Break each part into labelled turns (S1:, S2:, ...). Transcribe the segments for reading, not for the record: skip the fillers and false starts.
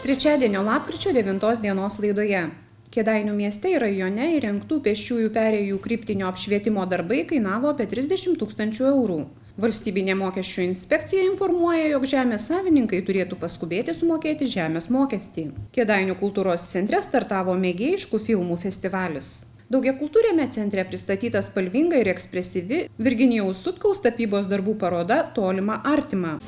S1: Trečiadienio lapkričio 9 dienos laidoje. Kėdainių mieste ir rajone įrengtų pėsčiųjų perėjų kryptinio apšvietimo darbai kainavo apie 30 000 eurų. Valstybinė mokesčių inspekcija informuoja, jog žemės savininkai turėtų paskubėti sumokėti žemės mokestį. Kėdainių kultūros centre startavo mėgėjiškų filmų festivalis. Daugiakultūriame centre pristatyta spalvinga ir ekspresyvi Virginijaus Sutkaus tapybos darbų paroda Tolima artima.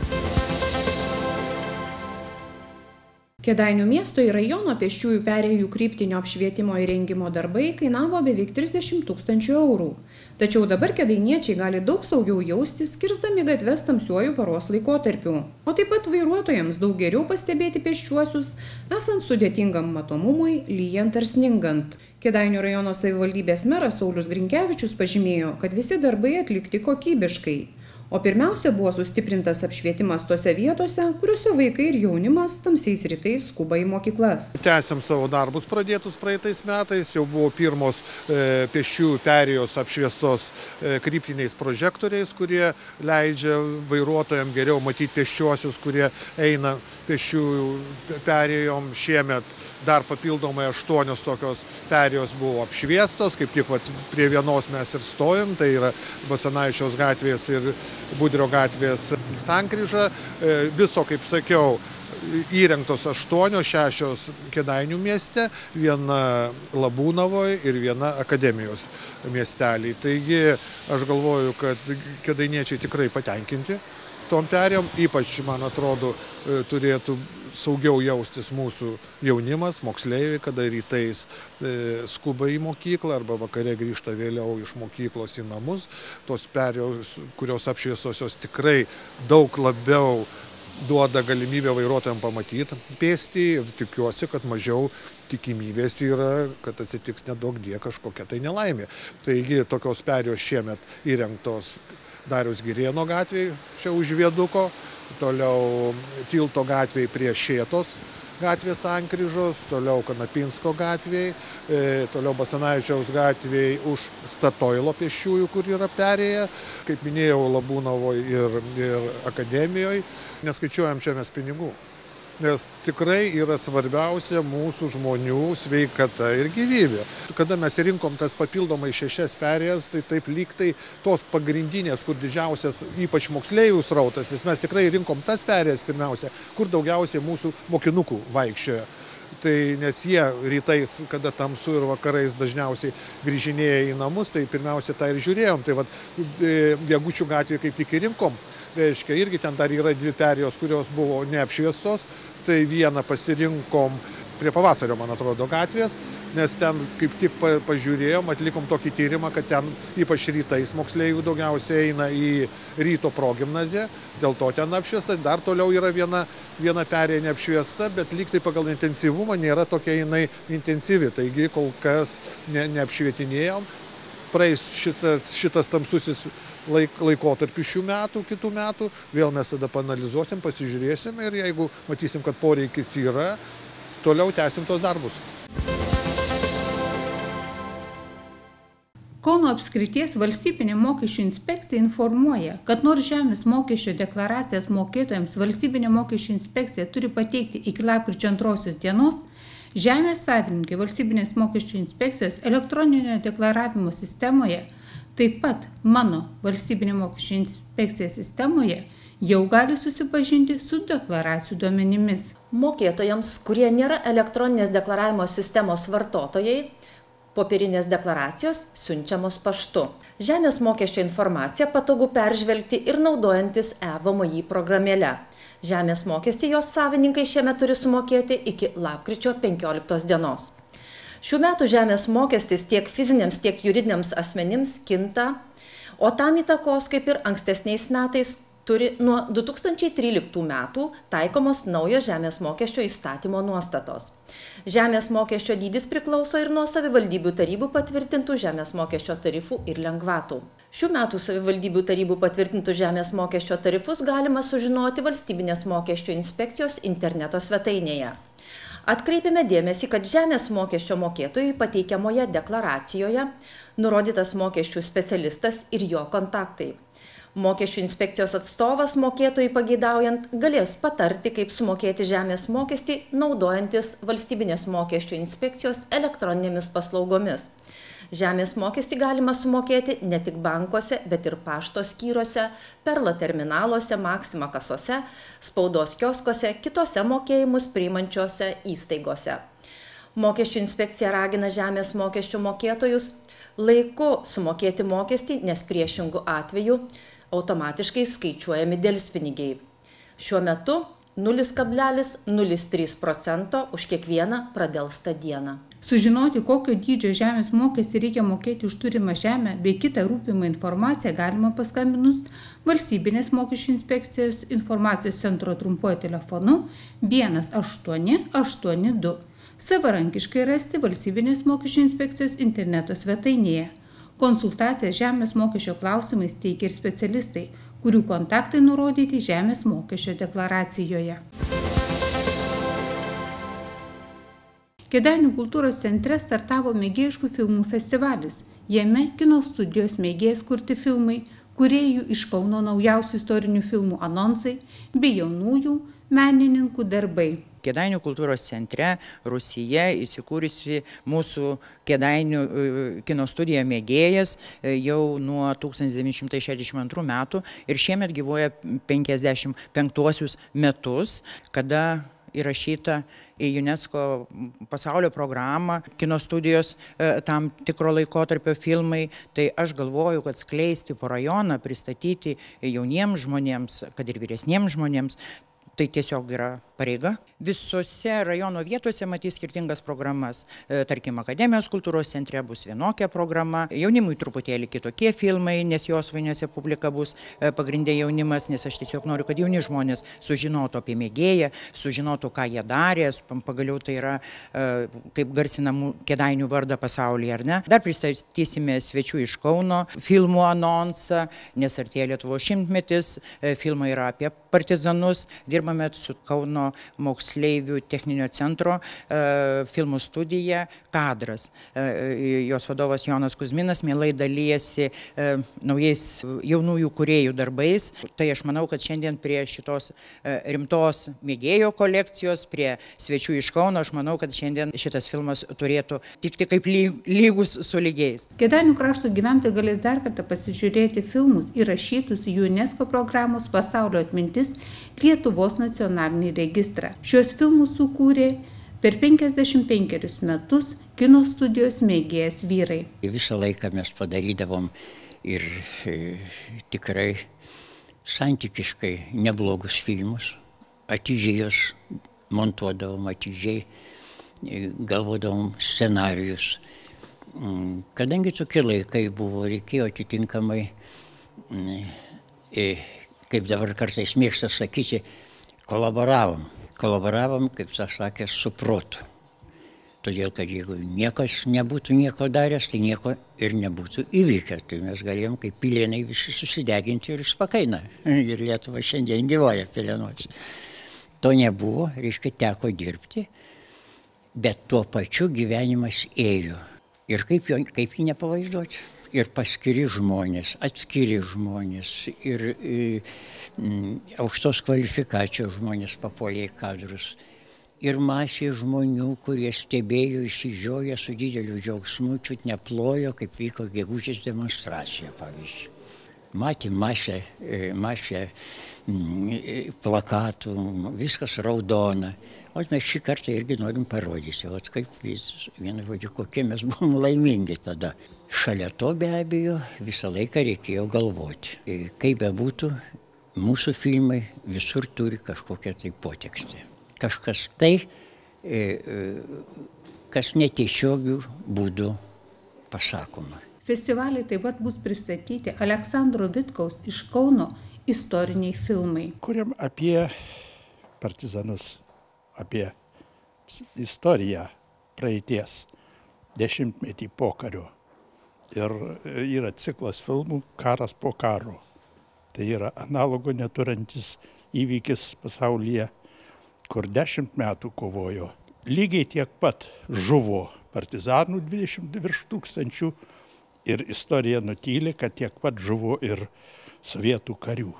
S1: Kėdainių miesto ir rajono pėsčiųjų perėjų kryptinio apšvietimo įrengimo darbai kainavo beveik 30 000 eurų. Tačiau dabar kėdainiečiai gali daug saugiau jaustis, kirsdami gatves tamsiuoju paros laikotarpiu. O taip pat vairuotojams daug geriau pastebėti pėsčiuosius, esant sudėtingam matomumui, lyjant ar sningant. Kėdainių rajono savivaldybės meras Saulius Grinkevičius pažymėjo, kad visi darbai atlikti kokybiškai. O pirmiausia buvo sustiprintas apšvietimas tose vietose, kuriuose vaikai ir jaunimas tamsiais rytais skuba į mokyklas.
S2: Tęsiam savo darbus pradėtus praeitais metais, jau buvo pirmos pėsčiųjų perėjos apšviestos kryptiniais prožektoriais, kurie leidžia vairuotojams geriau matyti pėsčiuosius, kurie eina pėsčiųjų perėjom. Šiemet dar papildomai 8 tokios perėjos buvo apšviestos, kaip tik prie vienos mes ir stojom, tai yra Basanavičiaus gatvės ir Budrio gatvės sankryža. Viso, kaip sakiau, įrengtos 8, 6 Kėdainių mieste, viena Labūnavoje ir viena Akademijos miestelį. Taigi aš galvoju, kad kėdainiečiai tikrai patenkinti tom perėjom, ypač, man atrodo, turėtų saugiau jaustis mūsų jaunimas, moksleiviai, kada rytais skuba į mokyklą arba vakare grįžta vėliau iš mokyklos į namus. Tos perėjos, kurios apšviesosios, tikrai daug labiau duoda galimybę vairuotojams pamatyti pėstį ir tikiuosi, kad mažiau tikimybės yra, kad atsitiks nedaugdie kažkokia tai nelaimė. Taigi tokios perėjos šiemet įrengtos Dariaus Girėno gatvėje, čia už viaduko, toliau Tilto gatvėje prie Šėtos gatvės sankryžos, toliau Kanapinsko gatvėje, toliau Basanavičiaus gatvėje už Statoilo pėsčiųjų, kur yra perėję, kaip minėjau, Labūnavoje ir Akademijoje. Neskaičiuojam čia mes pinigų, nes tikrai yra svarbiausia mūsų žmonių sveikata ir gyvybė. Kada mes rinkom tas papildomai 6 perėjas, tai taip lyg tai tos pagrindinės, kur didžiausias ypač moksleivių srautas, nes mes tikrai rinkom tas perėjas pirmiausia, kur daugiausiai mūsų mokinukų vaikščioja. Tai nes jie rytais, kada tamsu ir vakarais dažniausiai grįžinėja į namus, tai pirmiausia tą ir žiūrėjom. Tai Degučių gatvėje kaip tik ir rinkom. Reiškia, irgi ten dar yra 2 perėjos, kurios buvo neapšviestos, tai vieną pasirinkom prie Pavasario, man atrodo, gatvės, nes ten kaip tik pažiūrėjom, atlikom tokį tyrimą, kad ten ypač rytais moksleivių daugiausiai eina į ryto progimnaziją, dėl to ten apšviesta. Dar toliau yra viena perėja neapšviesta, bet lyg tai pagal intensyvumą nėra tokia jinai intensyvi, taigi kol kas neapšvietinėjom. Praeis šitas tamsusis laikotarpis šių metų, kitų metų, vėl mes tada paanalizuosim, pasižiūrėsim ir jeigu matysim, kad poreikis yra, toliau tęsim tos darbus.
S3: Kauno apskrities valstybinė mokesčių inspekcija informuoja, kad nors žemės mokesčio deklaracijas mokėtojams valstybinė mokesčių inspekcija turi pateikti iki lapkričio 2 dienos, žemės savininkai valstybinės mokesčių inspekcijos elektroninio deklaravimo sistemoje, taip pat mano valstybinė mokesčių inspekcija sistemoje, jau gali susipažinti su deklaracijų duomenimis.
S4: Mokėtojams, kurie nėra elektroninės deklaravimo sistemos vartotojai, popierinės deklaracijos siunčiamos paštu. Žemės mokesčio informaciją patogu peržvelgti ir naudojantis e-VMI programėle. Žemės mokestį jos savininkai šiemet turi sumokėti iki lapkričio 15 dienos. Šių metų žemės mokestis tiek fiziniams, tiek juridiniams asmenims kinta, o tam įtakos, kaip ir ankstesniais metais, turi nuo 2013 metų taikomos naujo žemės mokesčio įstatymo nuostatos. Žemės mokesčio dydis priklauso ir nuo savivaldybių tarybų patvirtintų žemės mokesčio tarifų ir lengvatų. Šių metų savivaldybių tarybų patvirtintų žemės mokesčio tarifus galima sužinoti Valstybinės mokesčių inspekcijos interneto svetainėje. Atkreipėme dėmesį, kad žemės mokesčio mokėtojui pateikiamoje deklaracijoje nurodytas mokesčių specialistas ir jo kontaktai. Mokesčių inspekcijos atstovas mokėtojui pageidaujant galės patarti, kaip sumokėti žemės mokestį, naudojantis Valstybinės mokesčių inspekcijos elektroninėmis paslaugomis. Žemės mokestį galima sumokėti ne tik bankuose, bet ir pašto skyriuose, Perlo terminaluose, Maxima kasose, spaudos kioskuose, kitose mokėjimus priimančiose įstaigose. Mokesčių inspekcija ragina žemės mokesčių mokėtojus laiku sumokėti mokestį, nes priešingų atveju automatiškai skaičiuojami delspinigiai. Šiuo metu 0,03% už kiekvieną pradelstą dieną.
S3: Sužinoti, kokio dydžio žemės mokestį reikia mokėti už turimą žemę bei kitą rūpimą informaciją galima paskambinus Valstybinės mokesčių inspekcijos informacijos centro trumpuoju telefonu 1882. Savarankiškai rasti Valstybinės mokesčių inspekcijos interneto svetainėje. Konsultaciją žemės mokesčio klausimais teikia ir specialistai, kurių kontaktai nurodyti žemės mokesčio deklaracijoje. Kėdainių kultūros centre startavo mėgėjiškų filmų festivalis. Jame kino studijos mėgėjas kurti filmai, kūrėjų iš Kauno naujausių istorinių filmų anonsai bei jaunųjų menininkų darbai.
S5: Kėdainių kultūros centre Rūsyje įsikūrusi mūsų Kėdainių kino studija Mėgėjas jau nuo 1962 metų ir šiemet gyvuoja 55 metus, kada įrašyta į UNESCO pasaulio programą kino studijos tam tikro laikotarpio filmai. Tai aš galvoju, kad skleisti po rajoną, pristatyti jauniems žmonėms, kad ir vyresniems žmonėms, tai tiesiog yra pareiga. Visose rajono vietose matys skirtingas programas. Tarkim, Akademijos kultūros centre bus vienokia programa, jaunimui truputėlį kitokie filmai, nes jos vainiuose publika bus pagrindė jaunimas, nes aš tiesiog noriu, kad jauni žmonės sužinotų apie mėgėją, sužinotų, ką jie darė, pagaliau tai yra kaip garsinamų Kėdainių vardą pasaulyje, ar ne. Dar pristatysime svečių iš Kauno filmų anonsą, nes artėja Lietuvos šimtmetis, filmai yra apie partizanus, dirbame su Kauno moksleivių techninio centro filmų studija Kadras. Jos vadovas Jonas Kuzminas mielai dalyjasi naujais jaunųjų kūrėjų darbais. Tai aš manau, kad šiandien prie šitos rimtos mėgėjo kolekcijos, prie svečių iš Kauno, aš manau, kad šiandien šitas filmas turėtų tikti kaip lygus su lygiais.
S3: Kėdainių krašto gyventojai galės dar kartą pasižiūrėti filmus įrašytus į UNESCO programos Pasaulio atmintis Lietuvos nacionalinį registrą. Šios filmus sukūrė per 55 metus kino studijos Mėgėjas vyrai.
S6: Visą laiką mes padarydavom ir tikrai santykiškai neblogus filmus, atidžiai juos montuodavom, atidžiai galvodavom scenarijus. Kadangi tokie laikai buvo, reikėjo atitinkamai, kaip dabar kartais mėgsta sakyti, kolaboravom, kaip tas sakė, su protu. Todėl, kad jeigu niekas nebūtų nieko daręs, tai nieko ir nebūtų įvykę. Tai mes galėjom kaip pilėnai visi susideginti ir spakaina. Ir Lietuva šiandien gyvoja pilėnuose. To nebuvo, reiškia, teko dirbti, bet tuo pačiu gyvenimas ėjo. Ir kaip jį nepavaizduoti. Ir paskiri žmonės, atskiri žmonės, ir aukštos kvalifikacijos žmonės papuolė į kadrus. Ir masė žmonių, kurie stebėjo, išsižioję su dideliu džiaugsmu, čiut neplojo, kaip vyko gegužės demonstracija, pavyzdžiui. Matė masę plakatų, viskas raudona. O mes šį kartą irgi norim parodyti, o kaip vienu žodžiu, kokie mes buvom laimingi tada. Šalia to be abejo visą laiką reikėjo galvoti. Kaip bebūtų, mūsų filmai visur turi kažkokią tai potekstę. Kažkas tai, kas netiesiogių būdų pasakoma.
S3: Festivalį taip pat bus pristatyti Aleksandro Vitkaus iš Kauno istoriniai filmai.
S7: Kuriam apie partizanus, apie istoriją praeities, dešimtmetį pokario. Ir yra ciklas filmų Karas po karo. Tai yra analogo neturintis įvykis pasaulyje, kur 10 metų kovojo. Lygiai tiek pat žuvo partizanų 20 virš tūkstančių ir istorija nutylė, kad tiek pat žuvo ir sovietų karių,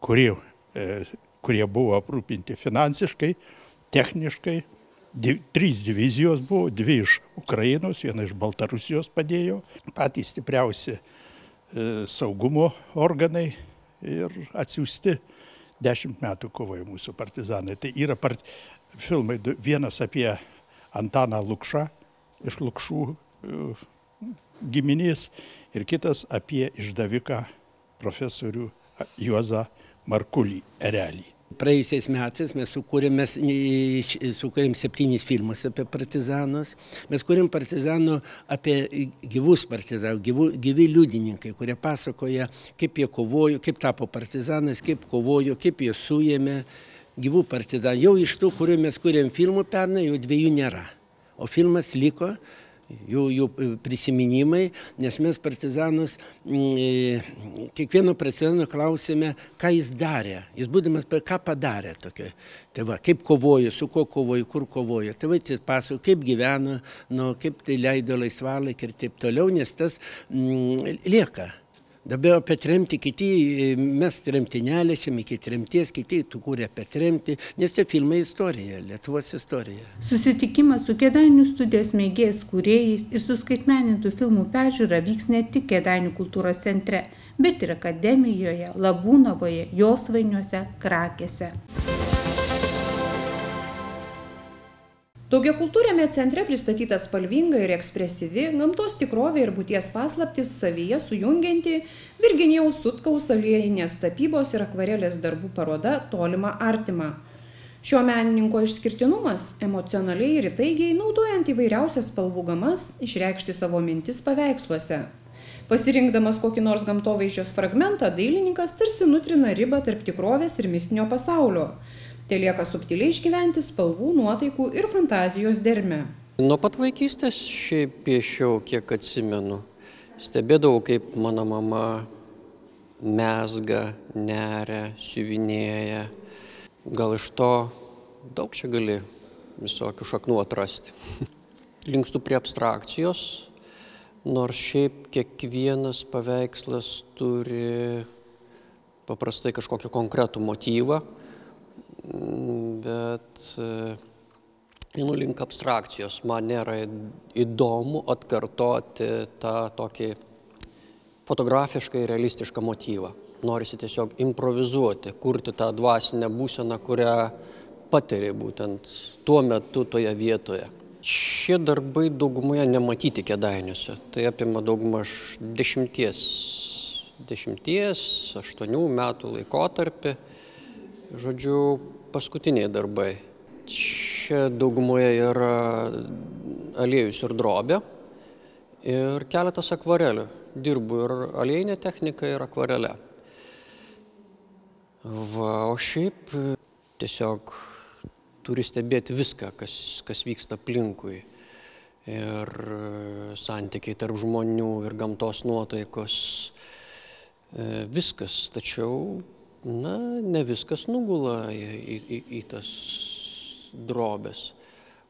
S7: kurie buvo aprūpinti finansiškai, techniškai. 3 divizijos buvo, 2 iš Ukrainos, 1 iš Baltarusijos padėjo, patys stipriausi saugumo organai ir atsiųsti 10 metų kovojo mūsų partizanai. Tai yra filmai, vienas apie Antaną Lukšą iš Lukšų giminės ir kitas apie išdaviką profesorių Juozą Markulį Erelį.
S8: Praėjusiais metais mes sukūrėm 7 filmus apie partizanus. Mes kūrėm partizanų apie gyvus partizanus, gyvi liudininkai, kurie pasakoja, kaip jie kovojo, kaip tapo partizanais, kaip kovojo, kaip jie suėmė gyvų partizanų. Jau iš tų, kurių mes kūrėm filmų pernai, jau 2 nėra. O filmas liko, jų prisiminimai, nes mes partizanus, kiekvieno partizano klausėme, ką jis darė. Jis būdamas, ką padarė tokio. Tai va, kaip kovojo, su kuo kovojo, kur kovojo. Tai va, jis pasakojo, kaip gyveno, kaip tai leido laisvalaikį ir taip toliau, nes tas lieka. Dabar apie tremtį kiti, mes tremtinelė, šiame iki tremties, kiti kūrė apie tremtį, nes tie filmai istorija, Lietuvos istorija.
S3: Susitikimas su Kėdainių studijos mėgėjais kūrėjais ir suskaitmenintų filmų peržiūra vyks ne tik Kėdainių kultūros centre, bet ir Akademijoje, Labūnavoje, Josvainiuose, Krakėse.
S1: Daugiakultūriame centre pristatyta spalvinga ir ekspresyvi, gamtos tikrovė ir būties paslaptis savyje sujungianti Virginijaus Sutkaus aliejinės tapybos ir akvarelės darbų paroda Tolima artima. Šio menininko išskirtinumas emocionaliai ir įtaigiai naudojant įvairiausias spalvų gamas išreikšti savo mintis paveiksluose. Pasirinkdamas kokį nors gamtovaizdžios fragmentą, dailininkas tarsi nutrina ribą tarp tikrovės ir mistinio pasaulio. Tai lieka subtiliai išgyventi spalvų, nuotaikų ir fantazijos dermę.
S9: Nuo pat vaikystės šiaip piešiau, kiek atsimenu. Stebėdavau, kaip mano mama mezga, neria, siuvinėja. Gal iš to daug čia gali visokių šaknų atrasti. Linkstu prie abstrakcijos, nors šiaip kiekvienas paveikslas turi paprastai kažkokį konkretų motyvą. Bet einu link abstrakcijos. Man nėra įdomu atkartoti tą tokį fotografiškai realistišką motyvą. Norisi tiesiog improvizuoti, kurti tą dvasinę būseną, kurią patiri būtent tuo metu toje vietoje. Šie darbai daugumoje nematyti Kėdainiuose. Tai apima daugmaž 10-8 metų laikotarpį. Žodžiu, paskutiniai darbai. Čia daugumoje yra aliejus ir drobė ir keletas akvarelių. Dirbu ir aliejinė technika, ir akvarelė. O šiaip tiesiog turi stebėti viską, kas vyksta aplinkui. Ir santykiai tarp žmonių, ir gamtos nuotaikos. Viskas, tačiau ne viskas nugula į tas drobės.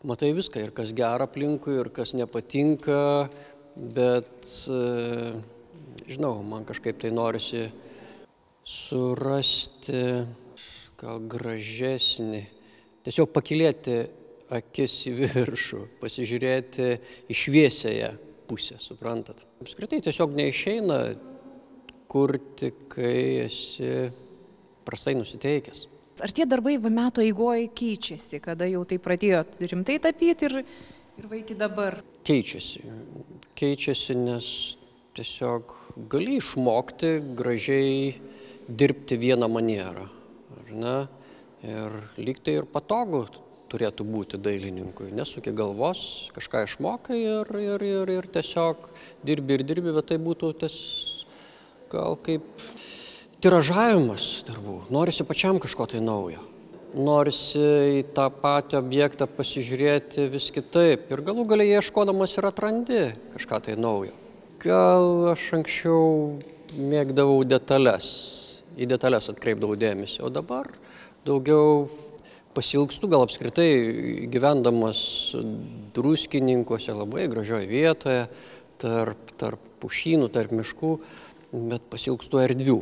S9: Matai viską, ir kas gera aplinkui, ir kas nepatinka, bet, žinau, man kažkaip tai norisi surasti gal gražesnį, tiesiog pakilėti akis į viršų, pasižiūrėti į šviesiąją pusę, suprantat. Apskritai tiesiog neišeina kurti, kai esi prastai nusiteikęs.
S10: Ar tie darbai metų eigoje keičiasi, kada jau tai pradėjot rimtai tapyti ir va iki dabar?
S9: Keičiasi. Keičiasi, nes tiesiog gali išmokti gražiai dirbti vieną manierą. Ar ne? Ir lyg tai ir patogu turėtų būti dailininkui. Nesuki galvos, kažką išmokai ir tiesiog dirbi, bet tai būtų gal kaip tiražavimas darbų. Norisi pačiam kažko tai naujo. Norisi į tą patį objektą pasižiūrėti vis kitaip. Ir galų galiai ieškodamas ir atrandi kažką tai naujo. Gal aš anksčiau mėgdavau detalės. Į detalės atkreipdavau dėmesį. O dabar daugiau pasilgstu, gal apskritai gyvendamas Druskininkuose, labai gražioje vietoje, tarp pušynų, tarp miškų, bet pasilgstu erdvių.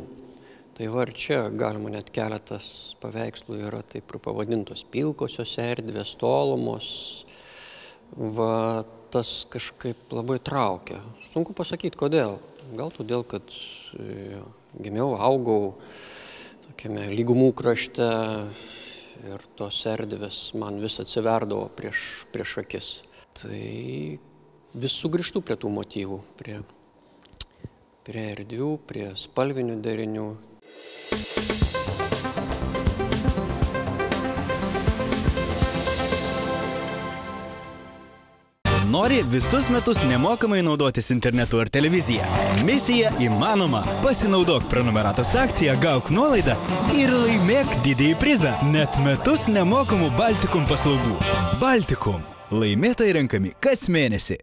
S9: Tai va ir čia galima net keletas paveikslų yra taip ir pavadintos pilkosios erdvės, tolumos. Va tas kažkaip labai traukia. Sunku pasakyti, kodėl. Gal todėl, kad gimiau, augau tokiame lygumų krašte ir tos erdvės man vis atsiverdavo prieš akis. Tai vis sugrįžtu prie tų motyvų, prie erdvių, prie spalvinių derinių.
S11: Nori visus metus nemokamai naudotis internetu ar televizija? Misija įmanoma. Pasinaudok prenumeratos akciją, gauk nuolaidą ir laimėk didįjį prizą. Net metus nemokamų Baltikum paslaugų. Baltikum. Laimėtojai renkami kas mėnesį.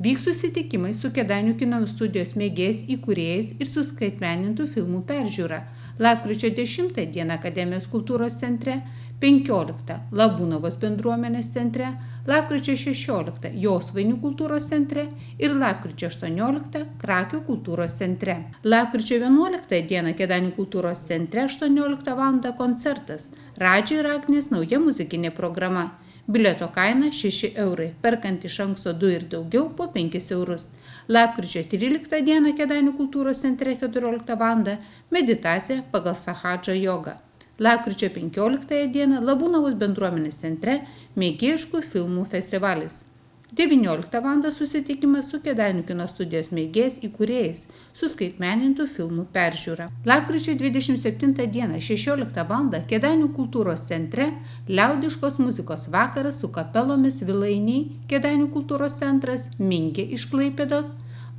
S3: Vyks susitikimai su Kėdainių kino studijos mėgėjais įkūrėjais ir suskaitmenintų filmų peržiūra. Lapkričio 10 dieną Akademijos kultūros centre, 15 Labūnavos bendruomenės centre, lapkričio 16 Josvainių kultūros centre ir lapkričio 18 Krakių kultūros centre. Lapkričio 11 dieną Kėdainių kultūros centre 18 val. Koncertas. Radži ir Agnės nauja muzikinė programa. Bilieto kaina 6 eurai, perkant iš anksto 2 ir daugiau po 5 eurus. Lapkričio 13 dieną Kėdainių kultūros centre 14 val. Meditacija pagal Sahadžo jogą. Lapkričio 15 dieną Labūnavos bendruomenės centre mėgėjiškų filmų festivalis. 19 val. Susitikimas su Kėdainių kino studijos mėgėjais įkūrėjais, suskaitmenintų filmų peržiūra. Lapkričio 27 dieną 16 val. Kėdainių kultūros centre liaudiškos muzikos vakaras su kapelomis Vilainiai, Kėdainių kultūros centras, Mingė iš Klaipėdos.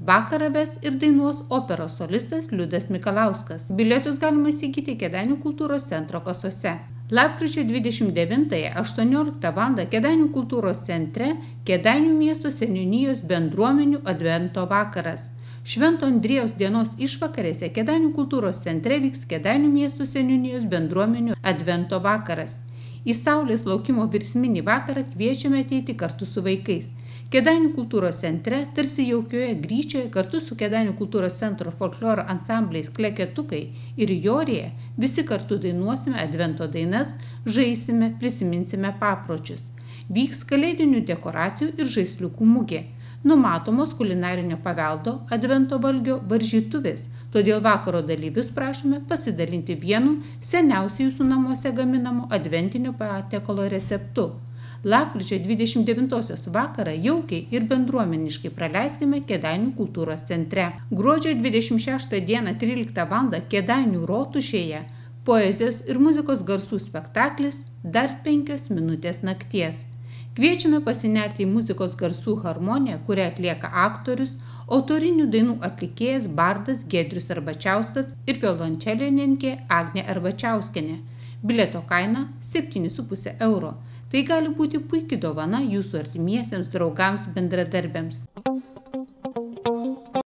S3: Vakarą ves ir dainuos operos solistas Liudas Mikalauskas. Bilietus galima įsigyti Kėdainių kultūros centro kasose. Lapkričio 29-18 val. Kėdainių kultūros centre Kėdainių miesto seniūnijos bendruomenių advento vakaras. Švento Andriejaus dienos išvakarėse Kėdainių kultūros centre vyks Kėdainių miesto seniūnijos bendruomenių advento vakaras. Į saulės laukimo virsminį vakarą kviečiame ateiti kartu su vaikais. Kėdainių kultūros centre, tarsi jaukioje gryčioje, kartu su Kėdainių kultūros centro folkloro ansambliais Kleketukai ir Jorija, visi kartu dainuosime advento dainas, žaisime, prisiminsime papročius. Vyks kalėdinių dekoracijų ir žaisliukų mugė. Numatomos kulinarinio paveldo advento valgio varžytuvės, todėl vakaro dalyvius prašome pasidalinti vienu seniausiai jūsų namuose gaminamu adventinio patiekalo receptu. Lapkričio 29 vakarą jaukiai ir bendruomeniškai praleiskime Kėdainių kultūros centre. Gruodžio 26 dieną 13 val. Kėdainių rotušėje poezijos ir muzikos garsų spektaklis Dar 5 minutės nakties. Kviečiame pasinerti į muzikos garsų harmoniją, kurią atlieka aktorius, autorinių dainų atlikėjas bardas Giedrius Arbačiauskas ir violončelininkė Agnė Arbačiauskienė. Bilieto kaina 7,5 euro. Tai gali būti puikia dovana jūsų artimiesiems draugams bendradarbiams.